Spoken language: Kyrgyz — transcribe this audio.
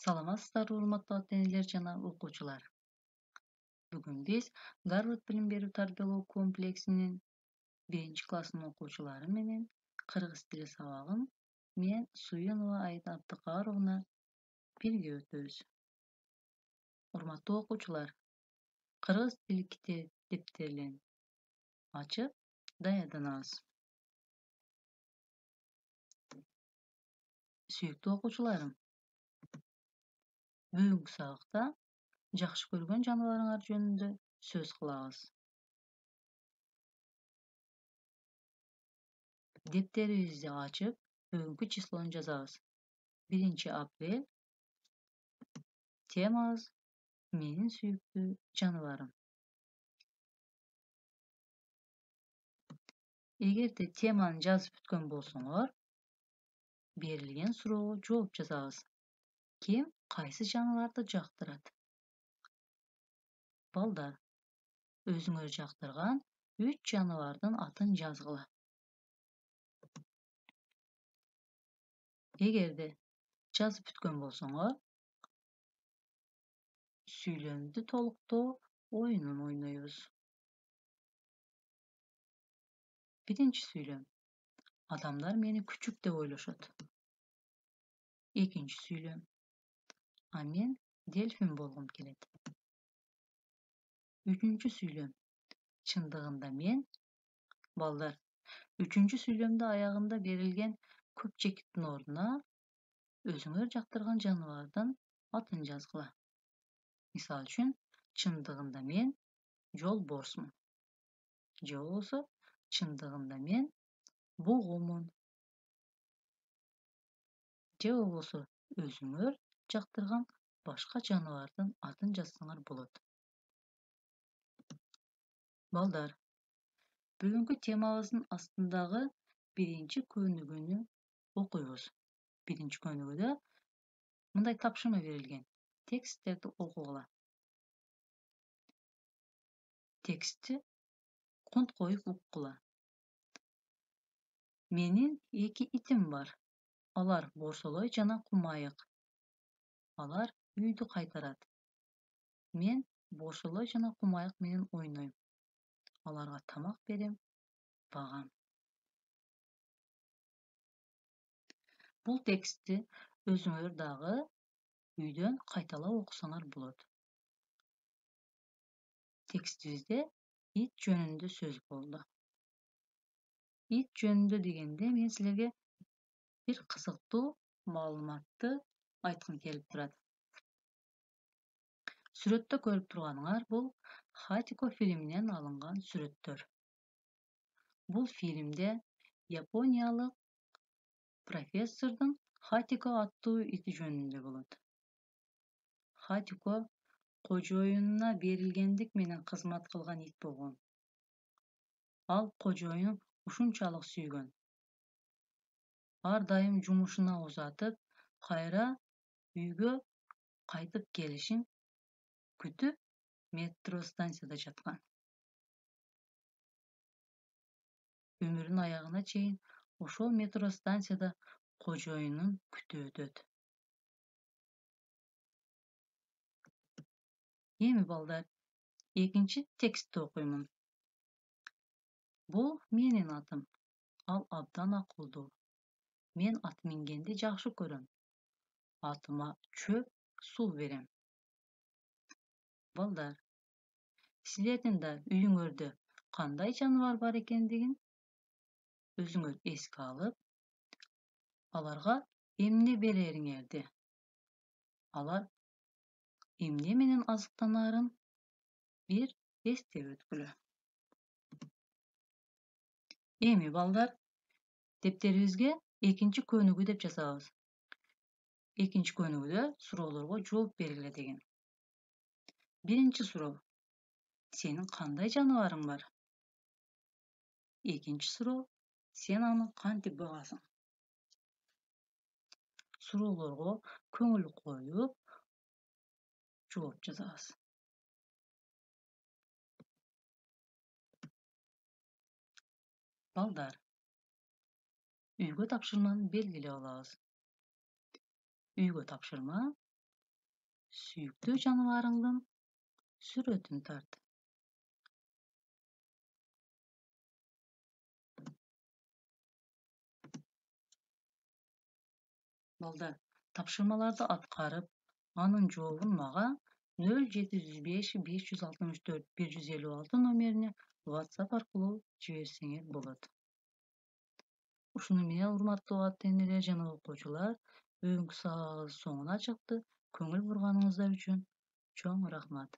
Саламатсыздарбы, урматтуу ата-энелер жана окуучулар. Бүгүн биз Гарвард билим берүү тарбиялоо комплексинин 1-класснын окуучулары менен кыргыз тили сабагын мен Суюнова Айда Абдыкаровна бирге өтөбүз. Урматтуу окуучулар, кыргыз тили китептерин ачып даярданабыз. Сүйүктүү окуучуларым, бүгүнкү сабакта жакшы көргөн жаныбарыңар жөнүндө сөз кылабыз. Дептерибизди ачып, бүгүнкү числону жазабыз. 1-апрель. Темабыз менин сүйүктүү жаныбарым. Эгерде теманы жазып бүткөн болсоңор, берилген суроого жооп жазабыз. Ким кайсы жаныбарды жактырат? Балдар, өзүңөр жактырган 3 жаныбардын атын жазгыла. Эгерде жазып бүткөн болсоңор, сүйлөмдү толуктоо оюнун ойнойбуз. 1-сүйлөм. Адамдар мени күчүк деп ойлошот. 2-сүйлөм. А мен дельфин болгум келет. 3-сүйлөм. Чындыгында мен. Балдар, 3-сүйлөмдө аягында берилген көпчектин ордуна өзүңөр жактырган жаныбардын атын жазгыла. Мисалы үчүн, чындыгында мен жолборсмун. Же болбосо, чындыгында мен бугумун. Же болбосо, өзүңөр жактырган башка жаныбардын атын жазсаңар болот. Балдар, бүгүнкү темабыздын астындагы 1-көнүгүүнү окуйбуз. 1-көнүгүүдө мындай тапшырма берилген. Тексттерди окугула. Текстти кунт коюп уккула. Менин 2 итим бар. Алар борсолой жана кумайык. Алар үйдү кайтарат. Мен борсолой жана кумайык менен ойнойм. Аларга тамак берем, багам. Бул текстти өзүңөр дагы үйдөн кайталап окусаңар болот. Текстибизде ит жөнүндө сөз болду. Ит жөнүндө дегенде мен силерге бир кызыктуу маалыматты айткым келип турат. Сүрөттө көрүп турганыңар бул Хатико фильминен алынган сүрөттөр. Бул фильмде япониялык профессордун Хатико аттуу ити жөнүндө болот. Хатико кожоюнуна берилгендик менен кызмат кылган ит болгон. Ал кожоюнун ушунчалык сүйгөн. Ар дайым жумушуна узатып, кайра үйгө кайтып келишин күтүп, метро станцияда жаткан. Өмүрүнүн аягына чейин ошол метро станцияда кожоюнун күтүп өтөт. Эми балдар, 2 текстти окуймун. Бул менин атым. Ал абдан акылдуу. Мен ат мингенди жакшы көрөм. Атыма чөп, суу берем. Балдар, силердин да үйүңөрдө кандай жаныбар бар экендигин өзүңөр эске алып, аларга эмне берериңерди, алар эмне менен азыктанаарын бир эстеп өткүлө. Эми балдар, дептерибизге 2-көнүгүү деп жазабыз. 2-көнүгүүдө суроолорго жооп бергиле деген. 1-суроо. Сенин кандай жаныбарың бар? 2-суроо. Сен аны кантип багасың? Суроолорго көңүл коюп, жооп жазабыз. Балдар, үйгө тапшырманы белгилеп алабыз. Үйгө тапшырма Сүйүктүү жаныбарыңдын сүрөтүн тарт. Балдар, тапшырмаларды аткарып, анын жообун мага 0705 564 156 номерине WhatsApp аркылуу жиберсеңер болот. Ушуну менен урматтуу ата-энелер жана окуучулар, бүгүнкү сабагыбыз соңуна чыкты. Көңүл бурганыңыздар үчүн чоң рахмат.